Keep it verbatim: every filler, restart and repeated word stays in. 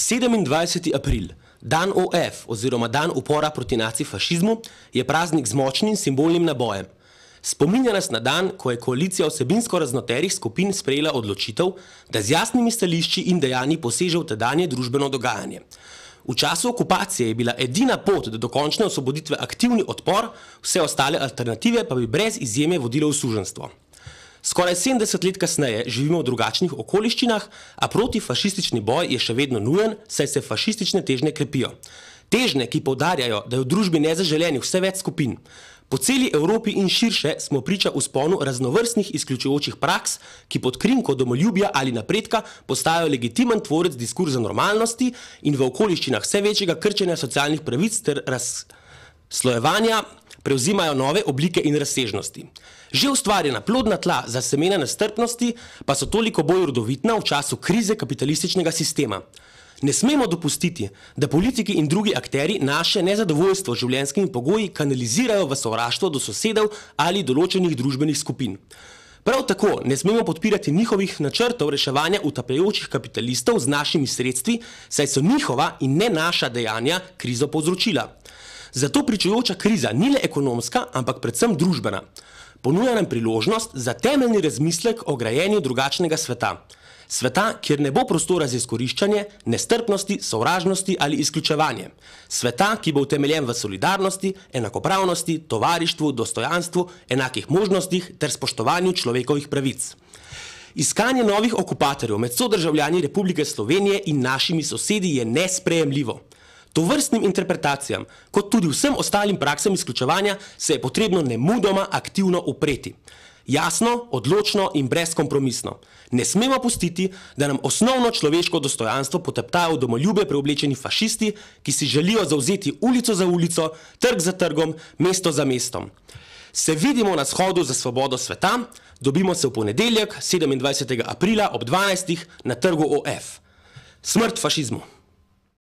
sedemindvajseti april, dan O F oziroma dan upora proti nacifašizmu, je praznik z močnim simbolnim nabojem. Spominja nas na dan, ko je koalicija vsebinsko raznoterih skupin sprejela odločitev, da z jasnimi stališči in dejanji poseže v tedanje družbeno dogajanje. V času okupacije je bila edina pot do dokončne osvoboditve aktivni odpor, vse ostale alternative pa bi brez izjeme vodile v suženjstvo. Skoraj sedemdeset let kasneje živimo v drugačnih okoliščinah, a protifašistični boj je še vedno nujen, saj se fašistične težnje krepijo. Težnje, ki poudarjajo, da je v družbi nezaželenih vse več skupin. Po celi Evropi in širše smo priča vzponu raznovrstnih izključujočih praks, ki pod krinko domoljubja ali napredka postajajo legitimen tvorec diskurza normalnosti in v okoliščinah vse večjega krčenja socialnih pravic ter razslojevanja prevzimajo nove oblike in razsežnosti. Že ustvarjena plodna tla za semena nestrpnosti pa so toliko bolj rodovitna v času krize kapitalističnega sistema. Ne smemo dopustiti, da politiki in drugi akteri naše nezadovoljstvo z življenjskimi pogoji kanalizirajo v sovraštvo do sosedov ali določenih družbenih skupin. Prav tako ne smemo podpirati njihovih načrtov reševanja utapljajočih kapitalistov z našimi sredstvi, saj so njihova in ne naša dejanja krizo povzročila. Zato pričujoča kriza ni le ekonomska, ampak predvsem družbena. Ponuja nam priložnost za temeljni razmislek o grajenju drugačnega sveta. Sveta, kjer ne bo prostora za izkoriščanje, nestrpnosti, sovražnosti ali izključevanje. Sveta, ki bo utemeljen v solidarnosti, enakopravnosti, tovarištvu, dostojanstvu, enakih možnostih ter spoštovanju človekovih pravic. Iskanje novih okupatorjev med sodržavljani Republike Slovenije in našimi sosedi je nesprejemljivo. Tovrstnim interpretacijam, kot tudi vsem ostalim praksam izključevanja, se je potrebno nemudoma aktivno upreti. Jasno, odločno in brezkompromisno. Ne smemo pustiti, da nam osnovno človeško dostojanstvo poteptajo v domoljube preoblečeni fašisti, ki si želijo zavzeti ulico za ulico, trg za trgom, mesto za mestom. Se vidimo na shodu za svobodo sveta, dobimo se v ponedeljek, sedemindvajsetega aprila ob dvanajstih na trgu O F. Smrt fašizmu!